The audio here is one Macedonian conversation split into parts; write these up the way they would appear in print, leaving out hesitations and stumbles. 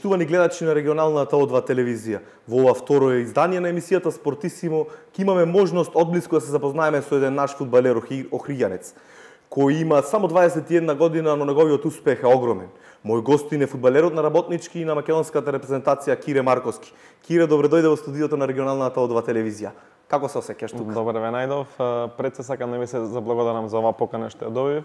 Почитувани гледачи на регионалната О2 телевизија, во ова второ издание на емисијата Спортисимо ќе имаме можност одблиску да се запознаеме со еден наш фудбалер охриѓанец, кој има само 21 година, но неговиот успех е огромен. Мој гостин е фудбалерот на Работнички и на македонската репрезентација Кире Марковски. Кире, добре дојде во студиото на регионалната О2 телевизија. Како се осеќаш тука? Добре ве најдов. Пред се сакам да ви се заблагодарам за оваа покана што ја добив.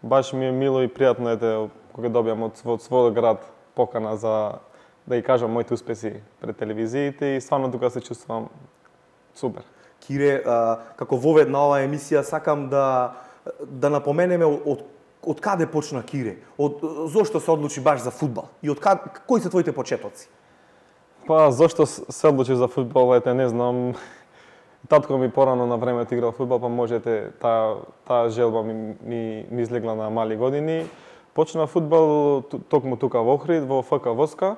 Баш ми е мило и пријатно кога добиам од својот град покана за да ги кажам моите успеси пред телевизиите и стварно тука се чувствувам супер. Кире, како вовед на оваа емисија сакам да напоменеме од каде почна Кире? Зошто се одлучи баш за фудбал? И кои се твоите почетоци? Па зошто се одлучи за фудбал, не знам. Татко ми порано на времето играл фудбал, па можете таа желба ми излегла на мали години. Почна фудбал токму тука во Охрид, во ФК Воска.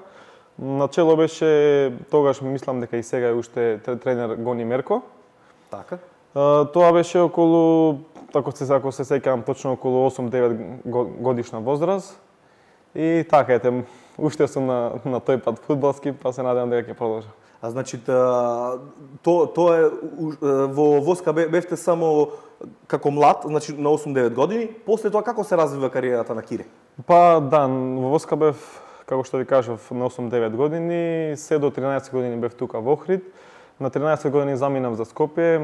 Начело беше, тогаш мислам дека и сега е уште тренер Гони Мерко. Така. Тоа беше околу, ако се сеќавам точно, околу 8-9 годишна возраст. И така уште сум на тој пат фудбалски, па се надевам дека ќе продолжам. Значи, тоа е, во Воска бевте само како млад, значи на 8-9 години, после тоа како се развива кариерата на Кире? Па да, во Воска бев, како што ви кажав, на 8-9 години, се до 13 години бев тука во Охрид. На 13 години заминав за Скопје,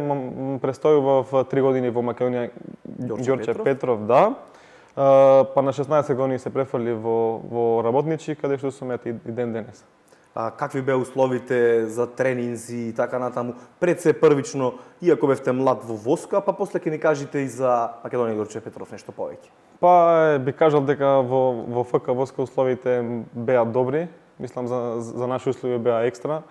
престојував 3 години во Македонија Ѓорче Петров, да. Па на 16 години се префрли во Работнички, каде што сум и ден денес. Какви беа условите за тренинзи и така натаму? Пред се првично, иако бевте млад во Воска, па после ќе ни кажете и за Македонија Ѓорче Петров нешто повеќе. Па би кажал дека во ФК Воска условите беа добри, мислам за наши услови беа екстра.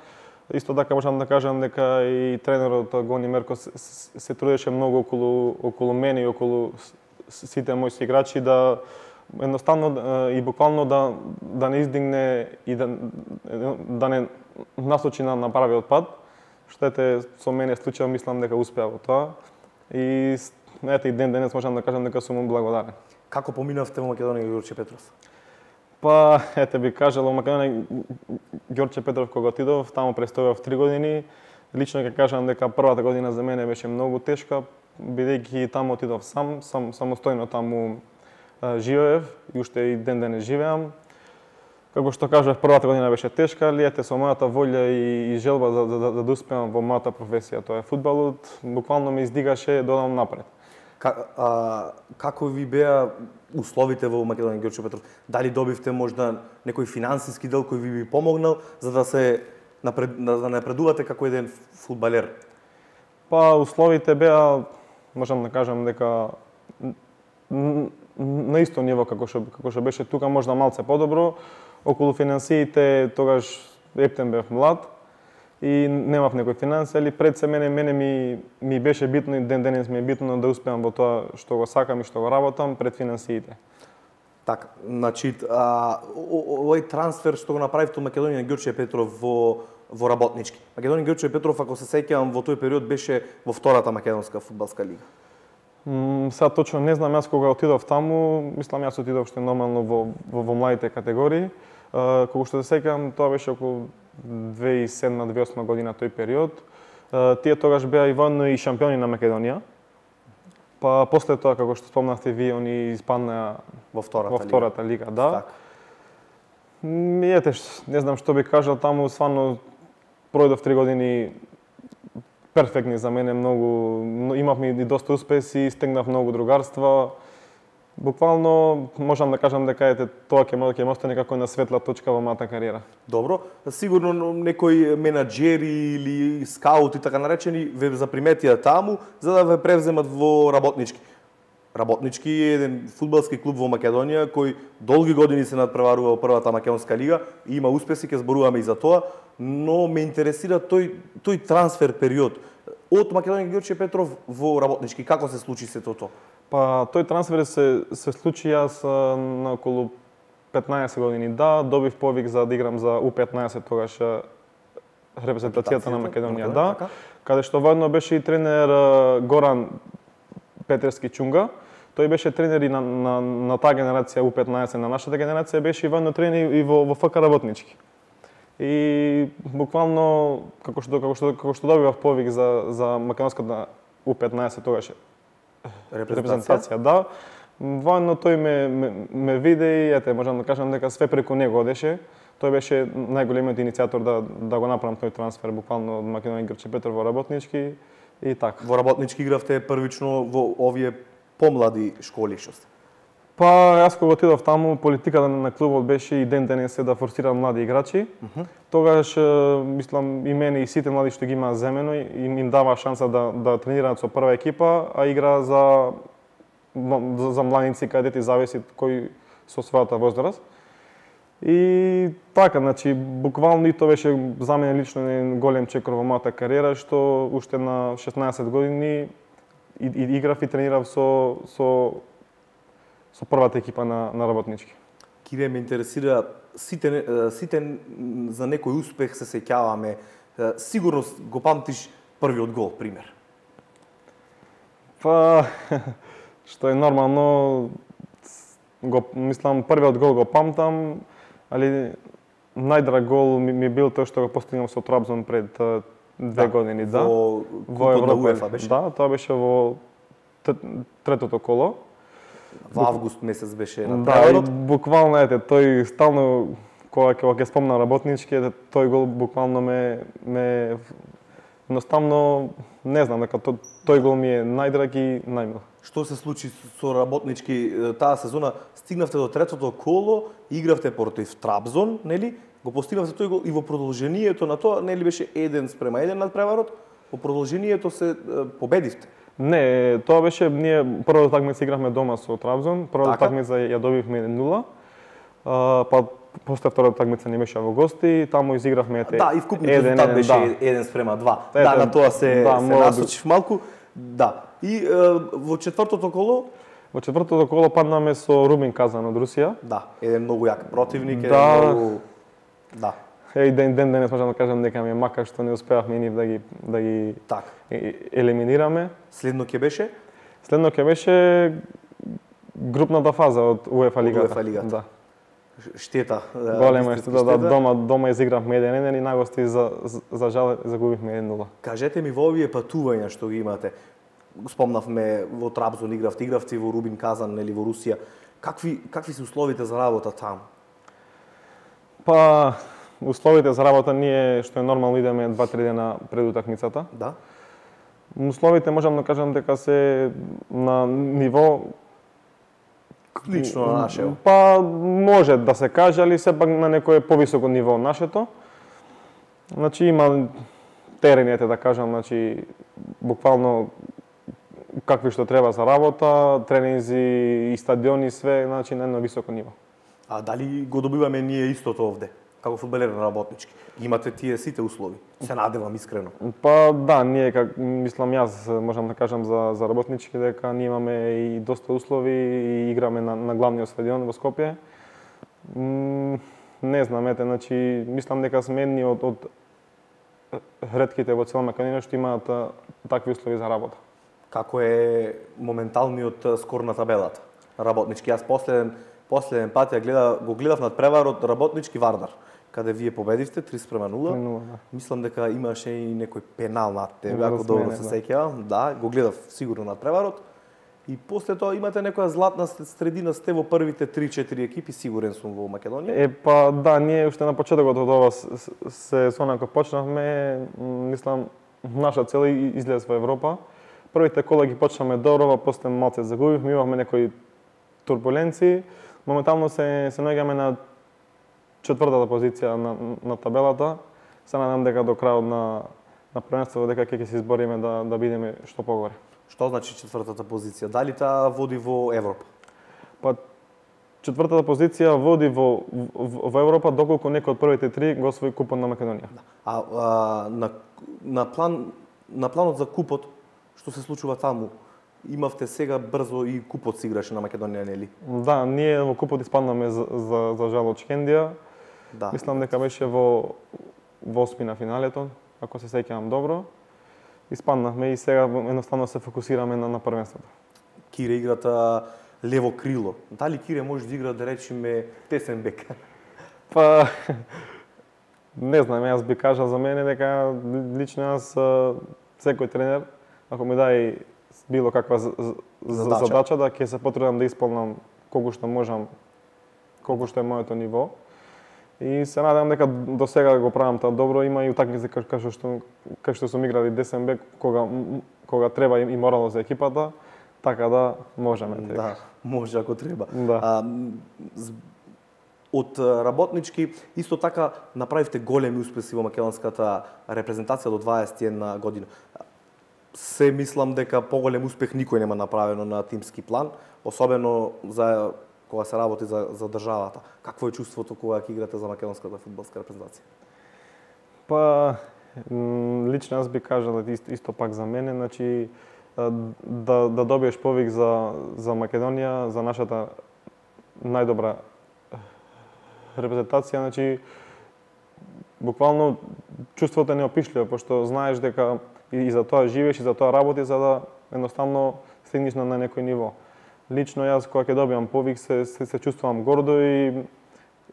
Исто така можам да кажам дека и тренерот Гони Мерко се трудеше многу околу мене и околу сите мои играчи да едноставно и буквално да не издигне и да не насочи на правиот пат. Што со мене случај, мислам дека успеа во тоа. И и ден денес можам да кажам дека сум му благодарен. Како поминавте во Македонија Ѓорче Петров? Па, би кажал, во Македонија Ѓорче Петров кога отидов, таму престојав 3 години. Лично ќе кажам дека првата година за мене беше многу тешка, бидејќи таму отидов самостојно таму живеев и уште и ден денес живеам. Како што кажав, првата година беше тешка, али со мојата волја и желба да успеам во мојата професија, тоа е фудбалот, буквално ме издигаше да одам напред. Како ви беа условите во Македонија Ѓорче Петров? Дали добивте можда некој финансиски дел кој ви помогнал за да напредувате како еден фудбалер? Па условите беа, можам да кажам дека на исто ниво како што беше тука, можда малце подобро. Околу финансиите тогаш ептен бев млад и немав некој финанси, али пред се мене ми беше битно и ден денес ми е битно да успеам во тоа што го сакам и што го работам пред финансиите. Така, значи, овој трансфер што го направивте од Македонија Ѓорче Петров во Работнички. Македонија Ѓорче Петров, ако се сеќавам, во тој период беше во втората македонска фудбалска лига. Сега точно не знам, јас кога отидов таму, мислам јас отидов што нормално во младите категории. Кога што се сеќавам, тоа беше околу 2007-2008 година тој период. Тие тогаш беа и воедно и шампиони на Македонија. Па после тоа, како што спомнавте вие, они испаднаа во втората лига, да. Не знам што би кажал, таму стварно пројдов 3 години перфектни за мене, имавме и доста успеси, стегнав многу другарства. Буквално можам да кажам дека тоа ќе ме остане како на светла точка во мојата кариера. Добро, сигурно некои менаџери или скаути така наречени ве заприметија таму за да ве превземат во Работнички. Работнички е еден фудбалски клуб во Македонија кој долги години се надпреварува во првата македонска лига и има успеси, ќе зборуваме и за тоа, но ме интересира тој трансфер период од Македонија Ѓорче Петров во Работнички. Како се случи сето тоа? Па тој трансфер се случи јас на околу 15 години. Да, добив повик за да играм за U15 тогаш репрезентацијата на Македонија, да. Каде што воедно беше и тренер Горан Петерски Чунга. Тој беше тренер и на таа генерација U15, на нашата генерација беше и воено тренер и во ФК Работнички. И буквално како што добивав повик за македонската U15 тогаш репрезентација, да. Воено тој ме виде и ете можам да кажам дека све преку него одеше. Тој беше најголемиот иницијатор да го направам тој трансфер буквално од Македонија Грче Петар во Работнички и така. Во Работнички игравте првично во овие помлади школи што сте? Па јас кога отидов таму, политиката на клубот беше и ден денес да форсира млади играчи. Тогаш мислам и мене и сите млади што ги имаа земено им дава шанса да тренираат со прва екипа, а игра за младинци кадети зависи кој со својата возраст. И така, значи буквално и тоа беше за мене лично еден голем чекор во мојата кариера што уште на 16 години и играв и тренирав со првата екипа на Работнички. Кире ме интересира сите за некој успех се сеќаваме. Сигурно го памтиш првиот гол, пример. Па што е нормално, мислам првиот гол го памтам, али најдраг гол ми бил тој што го постигнав со Трабзон пред 2 години, да. Во Европа беше? Да, тоа беше во третото коло. Во август месец беше на преварот. Да, буквално тој стално кога ќе спомна Работнички, тој гол буквално ме едноставно не знам дека тој гол ми е најдраг и најмил. Што се случи со Работнички таа сезона? Стигнавте до третото коло, игравте против Трабзон, нели? Го постигнавте тој гол и во продолжението на тоа, нели беше 1:1 над преварот? Во продолжението се победивте. Не, тоа беше ние првата такмица игравме дома со Трабзон, првата такмица ја добивме 1:0. Па после втората такмица не беше во гости, таму изигравме Да, и вкупниот резултат беше 1:2. Да, на тоа се насочив малку. Да. И во четвртото коло? Во четвртото коло паднаме со Рубин Казан од Русија. Да, еден многу јак противник, еден многу... Да. И ден денес можам да кажам дека ми е мака што не успеавме нив да ги елиминираме. Следно ќе беше? Следно ќе беше групната фаза од УЕФА лигата. УЕФА лигата. Да. Штета. Голема штета, да, дома изигравме 1:1 и на гости за жал загубивме 1:0. Кажете ми во овие патувања што ги имате, спомнавме во Трабзон игравте во Рубин Казан, нели во Русија. Какви се условите за работа таму? Па условите за работа ние што е нормално идеме 2-3 дена пред утакмицата. Да. Условите можам да кажам дека се на ниво лично на нашето. Па може да се каже, али сепак на некое повисоко ниво од нашето. Значи има терените да кажам, значи буквално какви што треба за работа, тренинзи и стадиони све, значи на едно високо ниво. А дали го добиваме ние истото овде? Како фудбалери на Работнички. Имате тие сите услови. Се надевам искрено. Па да, ние мислам јас можам да кажам за Работнички дека ние имаме и доста услови и играме на главниот стадион во Скопје. Не знам, значи мислам дека сме едни од ретките во цела Македонија што имаат такви услови за работа. Како е моменталниот скор на табелата? Работнички, јас последен пат го гледав над преварот Работнички Вардар, каде вие победивте 3:0. Да. Мислам дека имаше и некој пенал над тебе, ако добро се сеќавам. Да, го гледав сигурно над преварот. И после тоа имате некоја златна средина, сте во првите 3-4 екипи, сигурен сум во Македонија. Па да, ние уште на почетокот од ова сезона кога почнавме, мислам наша цел излез во Европа. Првите кола ги почнаме добро, после малце загубивме, имавме некои турбуленции. Моментално се наоѓаме на четвртата позиција на табелата. Се надам дека до крајот на првенството дека ќе се избориме да бидеме што погоре. Што значи четвртата позиција? Дали таа води во Европа? Па четвртата позиција води во Европа доколку некој од првите три го освои купот на Македонија. На планот за купот, што се случува таму? Имавте сега брзо и купот се играше на Македонија, нели? Да, ние во купот испаднаме за жал од Шкендија. Да. Мислам дека беше во осми на финалето, ако се сеќавам добро. Испаднавме и сега едноставно се фокусираме на првенството. Кире играта лево крило. Дали Кире може да игра, да речеме, тесен бек? Па, не знам, јас би кажал за мене дека лично јас секој тренер, ако ми даде било каква задача, да ќе се потрудам да исполнам колку што можам, колку што е моето ниво. И се надевам дека до сега го правам тоа добро. Има и утакмици кај што сум играл и десен бек, кога треба и морало за екипата, така да можеме. Да, може ако треба. Да. Од работнички, исто така направивте големи успеси во македонската репрезентација до 21 година. Се мислам дека поголем успех никој нема направено на тимски план, особено за кога се работи за државата. Какво е чувството кога ќе играте за македонската фудбалска репрезентација? Па, лично јас би кажал исто пак за мене, значи да добиеш повик за Македонија, за нашата најдобра репрезентација, значи буквално чувството е неопишливо, пошто знаеш дека и за тоа живееш, и за тоа работиш, за да едноставно стигнеш на некој ниво. Лично јас кога ќе добиам повик се чувствувам гордо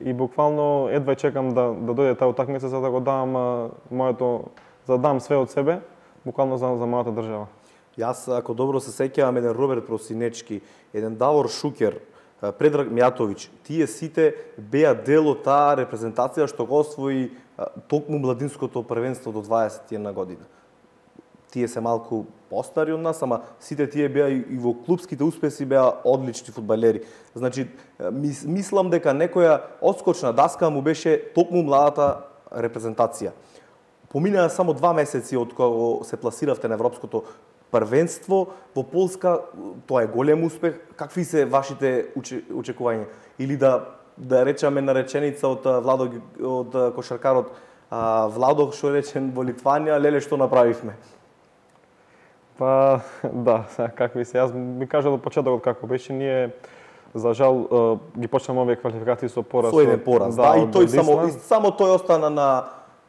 и буквално едва чекам да дојде таа утакмица за да го дам за да дам све од себе, буквално за мојата држава. Јас ако добро се сеќавам, еден Роберт Просинечки, еден Давор Шукер, Предраг Мјатовиќ, тие сите беа дел од таа репрезентација што го освои токму младинското првенство до 21 година. Тие се малку постари од нас, ама сите тие беа и во клубските успеси беа одлични фудбалери. Значи, мислам дека некоја одскочна даска му беше токму младата репрезентација. Поминаа само 2 месеци од кога се пласиравте на Европското првенство во Полска, тоа е голем успех. Какви се вашите очекувања? Или да речеме на реченица од Владо, од кошаркарот Владо, што речен во Литванија, леле што направивме? Па, да, какви се. Јас би кажал од почетокот како беше, ние за жал ги почнаме овие квалификации со пораз. Со еден пораз, да, и тој само тој остана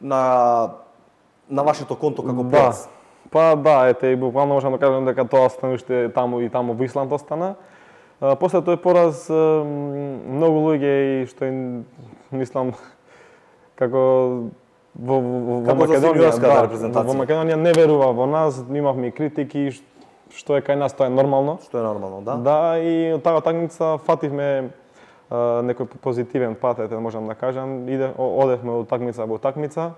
на вашето конто како пораз. Па да, ете, и буквално можам да кажам дека тоа становиште таму во Исланд остана. После тој пораз, многу луѓе и што мислам како во Македонија не верува во нас, имавме критики, што е кај нас, тоа е нормално. Што е нормално, да. Да, и од таа такмица фативме некој позитивен пат, можам да кажам, одевме од такмица во такмица.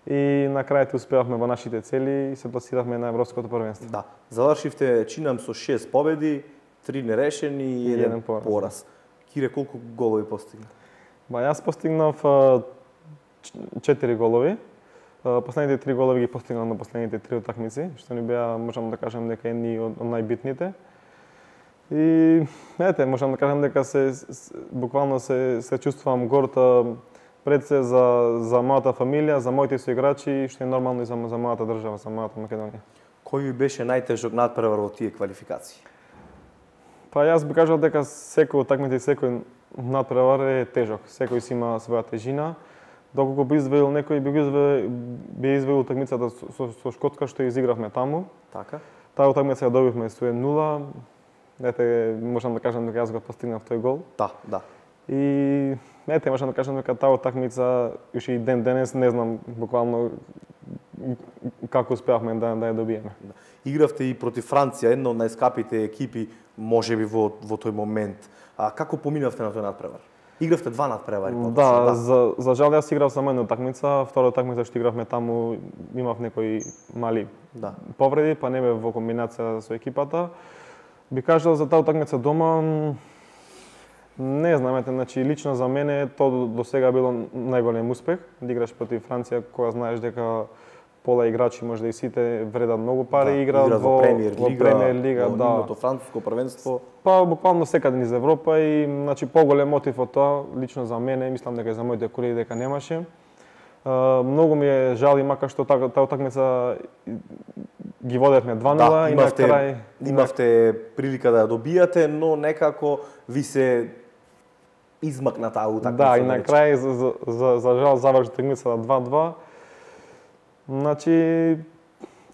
И на крајот успеавме во нашите цели и се пласиравме на Европското првенство. Да. Завршивте, чинам, со 6 победи, 3 нерешени и 1 пораз. Кире, колку голови постигна? Ба, јас постигнав 4 голови. Последните 3 голови ги постигнав на последните 3 утакмици, што ни беа, можам да кажам, дека едни од најбитните. И, ете, можам да кажам дека буквално се чувствувам горд пред се за мојата фамилија, за моите соиграчи, што е нормално и за мојата држава, за мојата Македонија. Кој ви беше најтежок надпревар во тие квалификации? Па јас би кажал дека секој утакмица и секој надпревар е тежок. Секој си има своја тежина. Доколку би изведил некој, би изведил утакмицата со Шкотска што изигравме таму. Така. Таа утакмица ја добивме со 1-0. Ете, можам да кажам дека јас го постигнав тој гол. Да. И ете, можам да кажам дека таа утакмица уште и ден денес не знам буквално како успеавме да ја добиеме. Игравте и против Франција, една од најскапите екипи можеби во тој момент. Како поминавте на тој надпревар? Игравте 2 надпревари? Да, за жал јас играв само една утакмица, втора утакмица што игравме таму имав некои мали повреди, па не бе во комбинација со екипата. Би кажал за таа утакмица дома, не знам, значи лично за мене тоа до сега било најголем успех, да играш против Франција кога знаеш дека пола играчи може да и сите вредат многу пари, играат во Премиер лига, во нивното француско првенство. Па буквално секаде низ Европа и значи поголем мотив од тоа лично за мене, мислам дека и за моите колеги дека немаше. Многу ми е жал и мака што таа утакмица ги водевме 2-0 и на крај имавте прилика да ја добијате, но некако ви се измакна таа утакмица. Да, и на крај за жал заврши утакмицата 2-2. Значи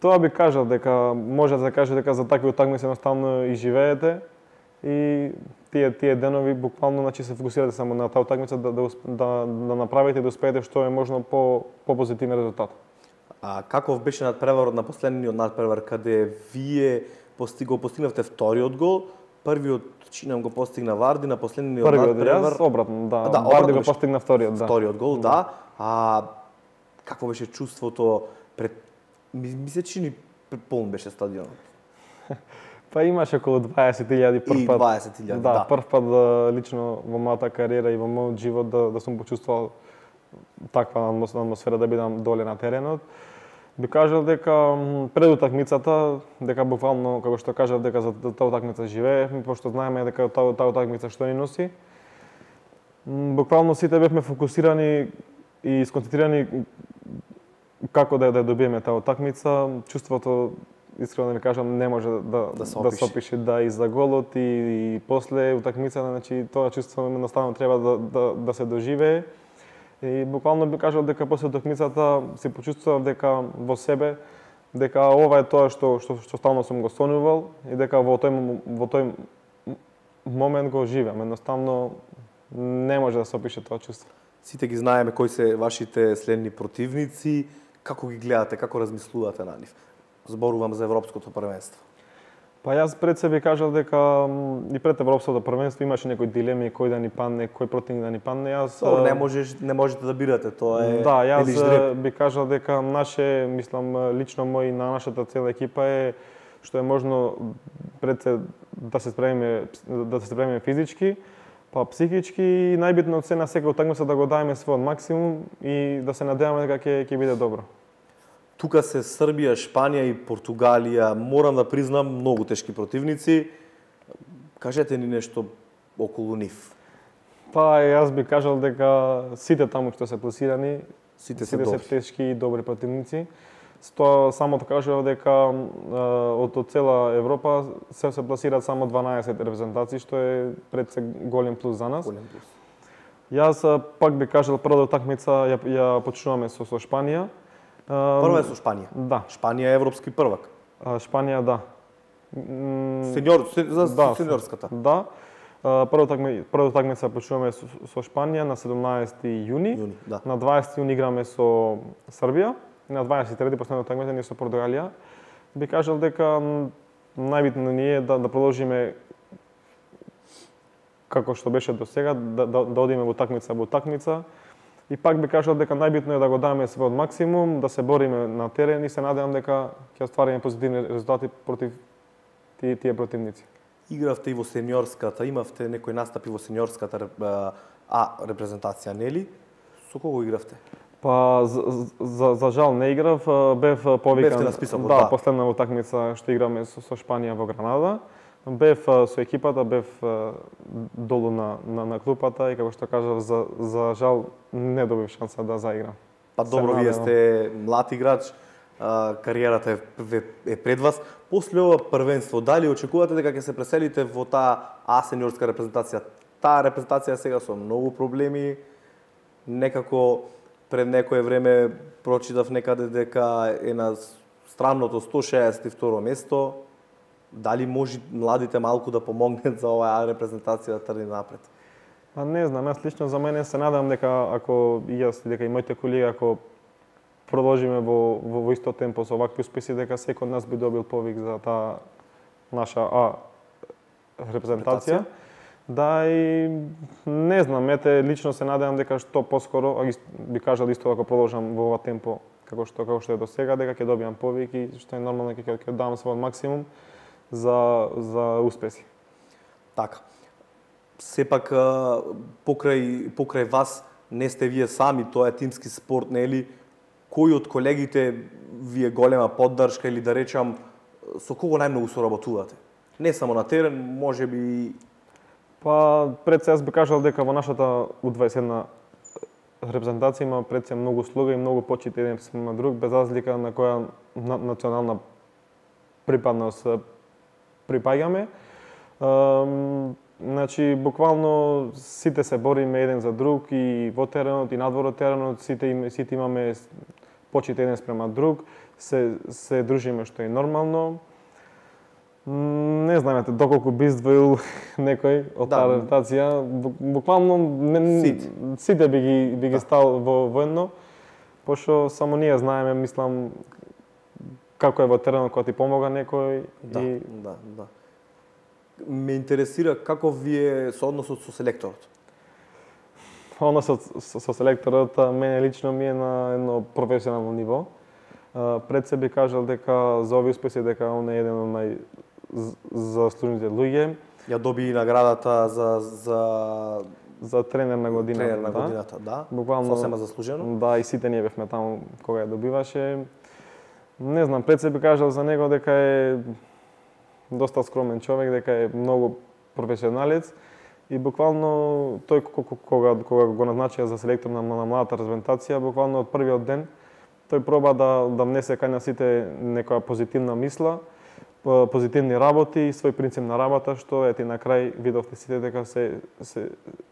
Тоа би кажал дека може да се каже дека за такви утакмици едноставно и живеете и тие денови буквално значи се фокусирате само на таа утакмица да направите и да успеете што е можно по позитивен резултат. А каков беше надпреварот на последниот надпревар каде вие постигнавте вториот гол, првиот чинам го постигна Варди на последниот надпревар. Јас обратно, да. Да, Варди го постигна вториот, да. Вториот гол, да. А какво беше чувството пред ми се чини полн беше стадионот. Па имаше околу 20.000 прв пат. 20.000, да. Прв пат лично во мојата кариера и во мојот живот да сум почувствувал таква атмосфера да бидам доле на теренот. Би кажал дека пред утакмицата, дека буквално, како што кажав, дека за таа утакмица живеевме, пошто знаеме дека таа утакмица што ни носи. Буквално сите бевме фокусирани и сконцентрирани како да ја добиеме таа утакмица. Чувството, искрено да ви кажам, не може да се опише, да и за голот и после утакмицата, значи тоа чувство едноставно треба да се доживее. И буквално би кажал дека после утакмицата се почувствував дека во себе, дека ова е тоа што стално сум го сонувал и дека во тој момент го живеам. Едноставно не може да се опише тоа чувство. Сите ги знаеме кои се вашите следни противници, како ги гледате, како размислувате на нив? Зборувам за Европското првенство. Па јас пред себе кажал дека и пред Европското првенство имаше некои дилеми кој да ни падне, кој противник да ни падне. Јас не можете да бирате, тоа е. Да, јас би кажал дека мислам лично мој на нашата цела екипа е што е можно пред се да се спремиме физички, па психички и најбитно од се на секоја утакмица да го дадеме својот максимум и да се надеваме дека ќе биде добро. Тука се Србија, Шпанија и Португалија, морам да признам, многу тешки противници. Кажете ни нешто околу нив. Па јас би кажал дека сите таму што се пласирани, сите се тешки и добри противници. Тоа само да кажав дека од цела Европа се пласираат само 12 репрезентации, што е пред се голем плюс за нас. Голем плюс. Јас пак би кажал првата утакмица ја почнуваме со Шпанија. Прва е со Шпанија. Да. Шпанија е европски prvак. Шпанија, да. Сениорската. Да. Првата утакмица почнуваме со Шпанија на 17 јуни. Да. На 20 јуни играме со Србија. И на 23 последната утакмица ние со Португалија. Би кажал дека најбитно ни е да продолжиме како што беше до сега, да одиме во утакмица. И пак би кажал дека најбитно е да го дадеме својот максимум, да се бориме на терен и се надевам дека ќе оствариме позитивни резултати против тие противници. Игравте и во сениорската, имавте некои настапи во сениорската репрезентација, нели? Со кого игравте? Па за жал не играв, бев повикан. Бевте на списокот, да. Последна утакмица што играме со Шпанија во Гранада. Бев со екипата, бев долу на клупата и како што кажав, за жал не добив шанса да заиграм. Па добро, вие сте млад играч, кариерата е пред вас. После ова првенство, дали очекувате дека ќе се преселите во таа сениорска репрезентација? Таа репрезентација сега со многу проблеми, некако пред некое време прочитав некаде дека е на странното 162 место. Дали може младите малку да помогнат за оваа репрезентација да тргне напред? Па не знам, јас лично за мене се надам дека ако и јас дека и моите колеги ако продолжиме во исто темпо со овакви успеси, дека секој од нас би добил повик за таа наша репрезентација. Да, и не знам, лично се надевам дека што поскоро, би кажал исто ако продолжам во ова темпо како што е до сега, дека ќе добијам повик и што е нормално ќе дам својот максимум за успеси. Така. Сепак покрај вас не сте вие сами, тоа е тимски спорт, нели? Кој од колегите ви е голема поддршка или да речам со кого најмногу соработувате? Не само на терен, можеби. Па пред се јас би кажал дека во нашата U21 репрезентација има пред се многу слуга и многу почит еден спрема друг, без разлика на која национална припадност припаѓаме. Значи, буквално сите се бориме еден за друг и во теренот и надвор од теренот, сите имаме почит еден спрема друг. се дружиме што е нормално. Не знам доколку би издвоил некој од таа репутација, буквално сите би ги стал во едно, пошто само ние знаеме, мислам, како е во теренот кога ти помога некој. Да. Ме интересира каков ви е соодносот со селекторот? Односот со селекторот мене лично ми е на едно професионално ниво. Пред се би кажал дека за овие успеси дека он е еден од заслужените луѓе. Ја доби и наградата за тренер на годината. Тренер на годината, да. Буквално сосема заслужено. Да, и сите ние бевме таму кога ја добиваше. Не знам, пред се би кажал за него дека е доста скромен човек, дека е многу професионалец и буквално тој кога го назначија за селектор на младата респрезентација, буквално од првиот ден тој проба да внесе кај на сите некоја позитивна мисла, позитивни работи и свој принцип на работа, што ети на крај видовте сите дека се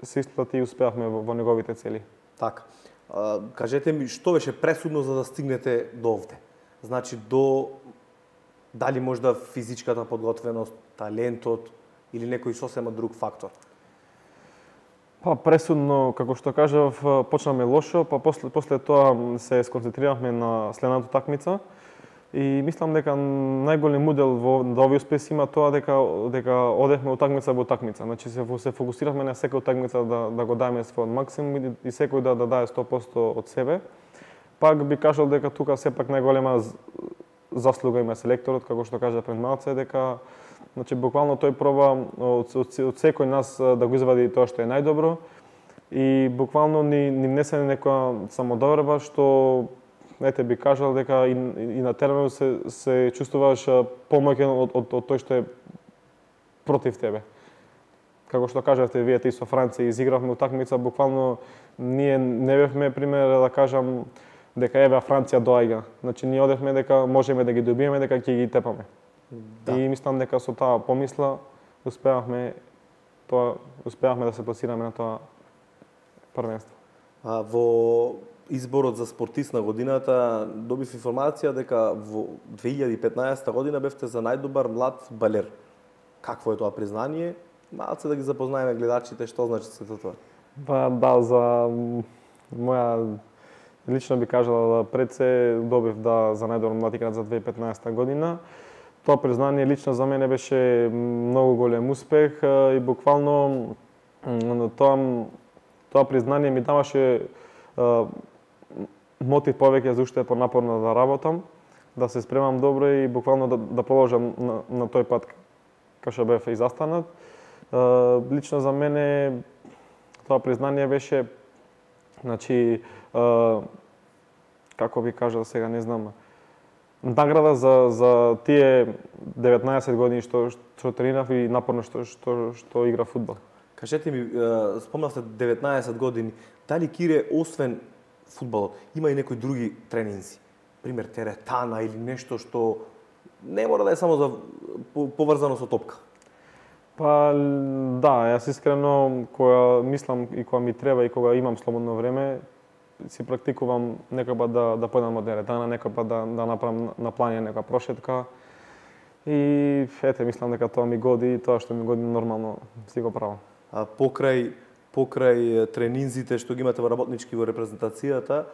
исплати и успеавме во неговите цели. Така. Кажете ми, што беше пресудно за да стигнете до овде? Значи, дали можда физичката подготвеност, талентот или некој сосема друг фактор? Па пресудно, како што кажав, почнаме лошо, па после тоа се сконцентрирахме на следната такмица. И мислам дека најголем удел во овие успеси има тоа дека одевме од такмица во такмица. Значи се фокусиравме на секоја такмица да го даеме својот максимум и секој да даде 100% од себе. Пак би кажал дека тука сепак најголема заслуга има селекторот, како што кажа пред малце, дека значи буквално тој проба од секој нас да го извади тоа што е најдобро и буквално ни внесе некоја самодоверба што би кажал дека и на теренот се чувствуваш помоќен од тој што е против тебе. Како што кажавте, вие и со Франција изигравме утакмица, буквално ние не бевме пример да кажам дека еве Франција доаѓа. Значи ние одевме дека можеме да ги добиеме, дека ќе ги тепаме. Да. И мислам дека со таа помисла успеавме да се пласираме на тоа првенство. Во изборот за спортист на годината добив информација дека во 2015 година бевте за најдобар млад фудбалер. Какво е тоа признание? Малце да ги запознаеме гледачите што значи сето тоа. Па да, за моја лично би кажала пред се добив за најдобар млад играч за 2015 година. Тоа признание лично за мене беше многу голем успех и буквално тоа признание ми даваше мотив повеќе за уште понапорно да работам, да се спремам добро и буквално да продолжам на тој пат кај што бев и застанат. Лично за мене тоа признание беше, значи, како би кажал сега, не знам, награда за тие 19 години што тренирав и напорно што игра фудбал. Кажете ми, спомнавте 19 години, дали Кире, освен фудбалот, има и некои други тренинзи? Пример, теретана или нешто што не мора да е само поврзано со топка? Па да, јас искрено кога мислам и кога ми треба и кога имам слободно време, си практикувам некоја да појдам од теретана, некоја да направам на плање нека прошетка. И мислам дека тоа ми годи и тоа што ми годи нормално си го правам. А покрај тренинзите што ги имате во работнички во репрезентацијата,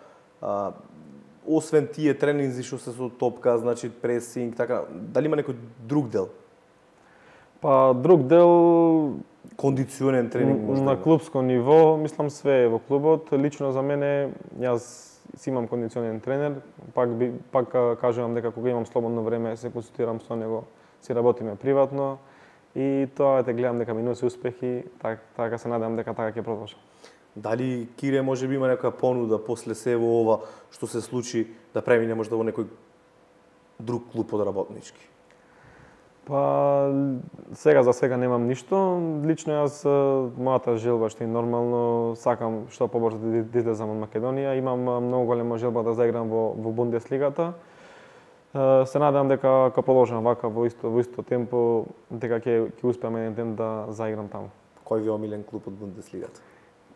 освен тие тренинзи што се со топка, значи пресинг, така, дали има некој друг дел? Па друг дел кондиционен тренинг можда на клубско ниво, мислам све е во клубот. Лично за мене, јас си имам кондиционен тренер, пак кажувам дека кога имам слободно време се консултирам со него, си работиме приватно. И тоа гледам дека ми носи успехи, така се надевам дека така ќе продолжам. Дали Кире може би има некоја понуда после се во ова што се случи да премине можда во некој друг клуб од работнички? Па сега за сега немам ништо. Лично јас мојата желба што е нормално сакам што побрзо да излезам од Македонија. Имам многу голема желба да заиграм во Бундеслигата. Се надевам дека ќе продолжам вака во исто темпо, дека ќе успеам еден ден да заиграм таму. Кој ви е омилен клуб од Бундеслигата?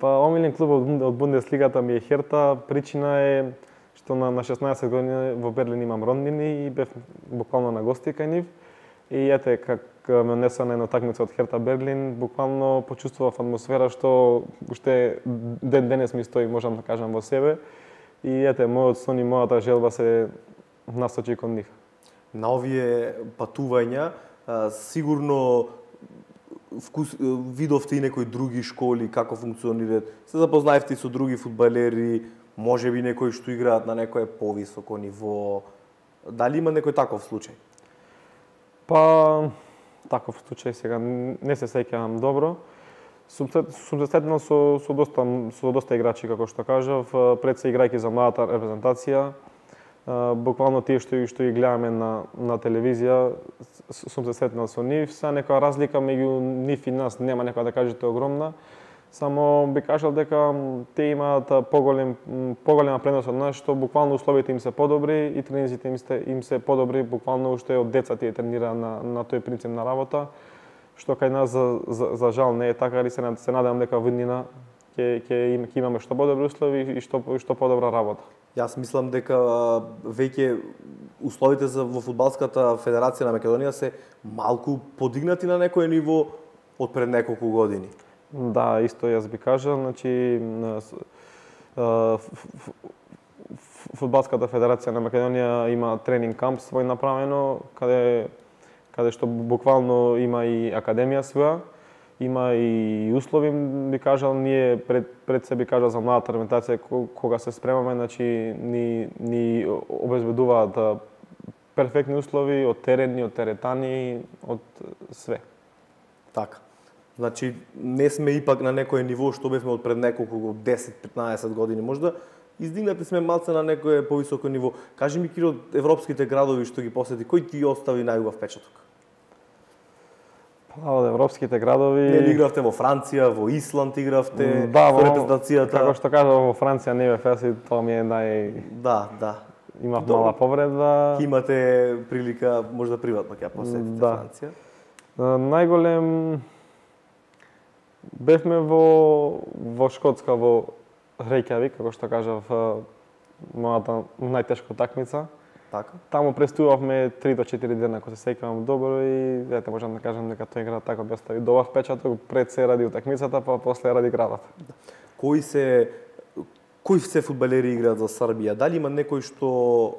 Па омилен клуб од Бундеслигата ми е Херта. Причина е што на 16 години во Берлин имам роднини и бев буквално на гости кај нив. И ете, как ме несла на една такмица од Херта Берлин, буквално почувствував атмосфера што уште ден денес ми стои, можам да кажам, во себе. И ете, мојот сон и мојата желба се насочи кон нив. На овие патувања, сигурно видовте и некои други школи, како функционираат, се запознаевте со други фудбалери, можеби некои што играат на некое повисоко ниво. Дали има некој таков случај? Па, таков случај сега не се сеќавам добро. Сум се сретнал со доста играчи, како што кажав, пред се играјќи за младата репрезентација. Буквално тие што ги гледаме на телевизија, сум се сретнал со нив. Са некоја разлика меѓу нив и нас нема некоја да кажете огромна. Само би кажал дека те имаат поголема предност од нас, што буквално условите им се подобри и тренизите им се подобри, буквално уште од деца тие тренира на тој принцип на работа, што кај нас за жал не е така, али се надевам дека во иднина ќе имаме што подобри услови и што подобра работа. Јас мислам дека веќе условите во фудбалската федерација на Македонија се малку подигнати на некое ниво од пред неколку години. Да, исто јас би кажал, значи фудбалската федерација на Македонија има тренинг камп свој направено, каде што буквално има и академија своја, има и услови, би кажал, ние пред се би кажал за младата репрезентација кога се спремаме, значи ни обезбедуваат перфектни услови од терени, од теретани, од све. Така. Значи, не сме ипак на некое ниво што бевме од пред неколку 10-15 години можда, издигнати сме малце на некое повисоко ниво. Кажи ми, Киро, европските градови што ги посети, кој ти остави најубав впечаток? Па, од европските градови... Не игравте во Франција, во Исланд игравте, да, во репрезентацијата. Како што кажав, во Франција не бев јас и тоа ми е Да. Имав мала повреда. Имате прилика, можда приватно ќе ја посетите Франција. Најголем бевме во Шкотска, во Рејкјавик, како што кажав, мојата најтешка такмица. Така. Таму престувавме 3 до 4 дена, ако се сеќавам добро, и ете можам да кажам дека тој град така би остави добар впечаток, пред се ради утакмицата, па после ради градот. Кои се фудбалери играат за Србија? Дали има некој што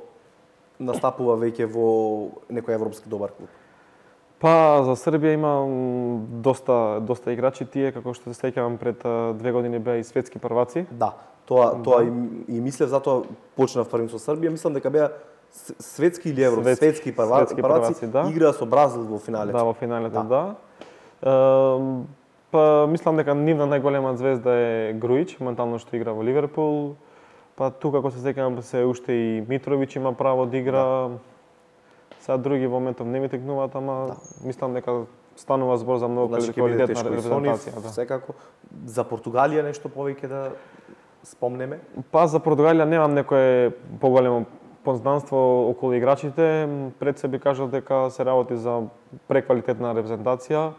настапува веќе во некој европски добар клуб? Па за Србија има доста играчи, тие како што се сеќавам пред 2 години беа и светски прваци. Да, тоа и мислев, затоа почнав првим со Србија, мислам дека беа светски или светски прваци, да. Играа со Бразил во финалето. Да, во финалето, да. Па мислам дека нивна најголема звезда е Груич, моментално што игра во Ливерпул. Па тука како се сеќавам се уште и Митровиќ има право да игра. Да. Сега други во моментов не ми текнуваат, ама мислам дека станува збор за многу квалитетна репрезентација. Секако. За Португалија нешто повеќе да спомнеме? Па за Португалија немам некое поголемо познанство околу играчите. Пред се би кажал дека се работи за преквалитетна репрезентација.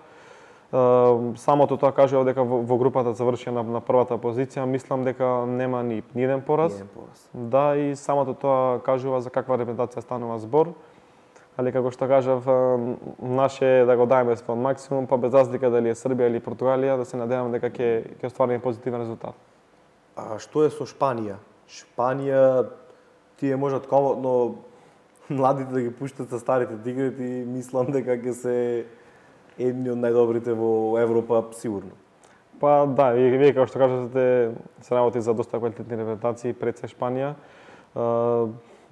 Самото тоа кажува дека во групата завршија на првата позиција, мислам дека нема ни еден пораз. Да, и самото тоа кажува за каква репрезентација станува збор. Али како што кажав, наше да го дајме свој максимум, па без разлика дали е Србија или Португалија, да се надевам дека ќе оствариме позитивен резултат. А што е со Шпанија? Шпанија тие можат комодно младите да ги пуштат со старите да играат и мислам дека ќе се едни од најдобрите во Европа сигурно. Па да, вие како што кажате, се работи за доста квалитетни репрезентации пред се Шпанија.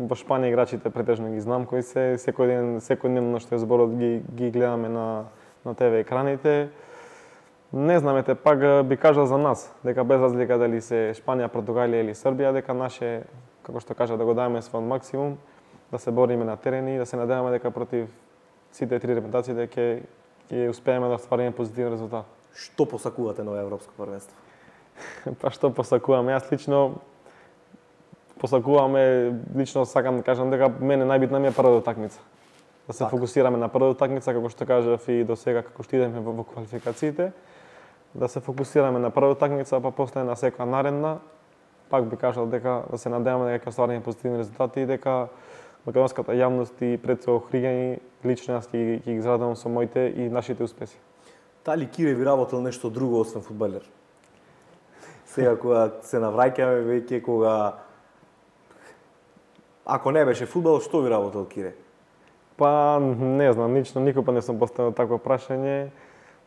Во Шпанија играчите претежно ги знам кои се, секојдневно што е зборот ги гледаме на ТВ екраните. Не знамете, пак би кажал за нас, дека без разлика дали се Шпанија, Португалија или Србија, дека наше, како што кажа, да го дајме свој максимум, да се бориме на терени и да се надеваме дека против сите три репрезентации дека ќе успееме да оствариме позитивен резултат. Што посакувате на европско првенство? Па што посакуваме? Јас лично сакам да кажам дека мене најбитна ми е првата такмица. Да се фокусираме на првата такмица, како што кажав и до сега како што идеме во квалификациите, да се фокусираме на првата такмица, па после на секоја наредна, пак би кажал дека да се надеваме дека ќе оствариме позитивни резултати и дека македонската јавност и пред се охригањи лично јас ќе ги израдувам со моите и нашите успеси. Дали Кире ви работел нешто друго освен фудбалер? Сега кога се навраќаме веќе кога ако не беше фудбал, што ви работел Кире? Па не знам, лично никога не сум поставил такво прашање.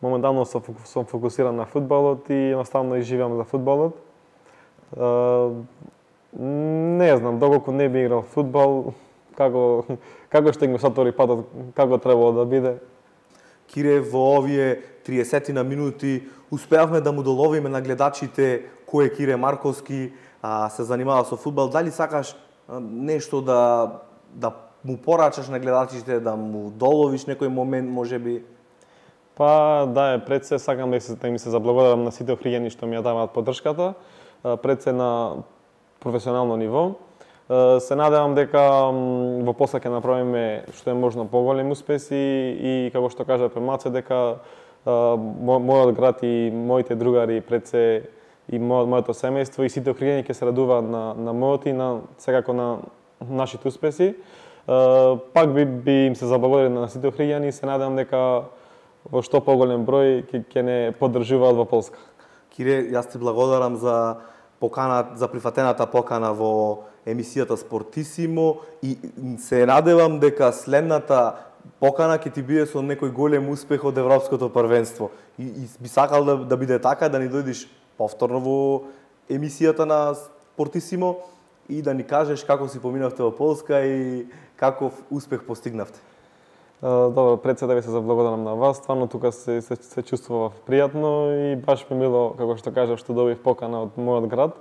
Моментално сум фокусиран на фудбалот и едноставно изживам за фудбалот. Не знам, доколку не би играл фудбал, како ще ги сатори патот, како требало да биде. Кире, во овие 30 на минути успеавме да му доловиме на гледачите кој е Кире Марковски, се занимава со фудбал. Дали сакаш нешто да му порачаш на гледачите, да му доловиш некој момент, можеби? Па да, пред се сакам да ми се заблагодарам на сите охриѓани што ми ја даваат поддршката, пред се на професионално ниво. Се надевам дека во после ќе направиме што е можно поголеми успеси и како што кажа Пемаце дека мојот град и моите другари пред се и моето семејство и сите охриѓани ќе се радуваат на мојот и на секако на нашите успеси. Пак би им се заблагодарил на сите охриѓани и се надевам дека во што поголем број ќе не поддржуваат во Полска. Кире, јас ти благодарам за прифатената покана во емисијата Спортисимо и се надевам дека следната покана ќе ти биде со некој голем успех од Европското првенство. И би сакал да биде така, да ни дојдеш повторно во емисијата на Спортисимо и да ни кажеш како си поминавте во Полска и каков успех постигнавте. Добро, пред се да ви се заблагодарам на вас. Стварно тука се чувствував пријатно и баш ми мило, како што кажав, што добив покана од мојот град,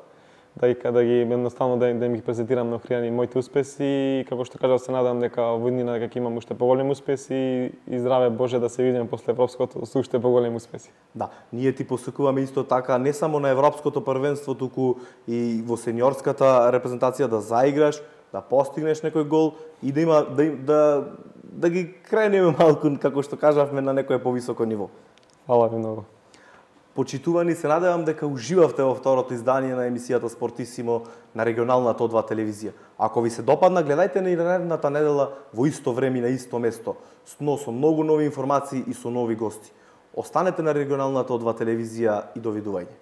да ги едноставно да им ги презентирам на охријани моите успеси и како што кажав се надам дека во иднина дека ќе имам уште поголеми успеси и здраве Боже да се видиме после европското со уште поголеми успеси. Да, ние ти посакуваме исто така не само на европското првенство, туку и во сениорската репрезентација да заиграш, да постигнеш некој гол и да ги кренеме малку, како што кажавме, на некое повисоко ниво. Фала ви многу. Почитувани, се надевам дека уживавте во второто издание на емисијата Спортисимо на регионалната О2 телевизија. Ако ви се допадна, гледајте на наредната недела во исто време и на исто место, но со многу нови информации и со нови гости. Останете на регионалната О2 телевизија и довидување.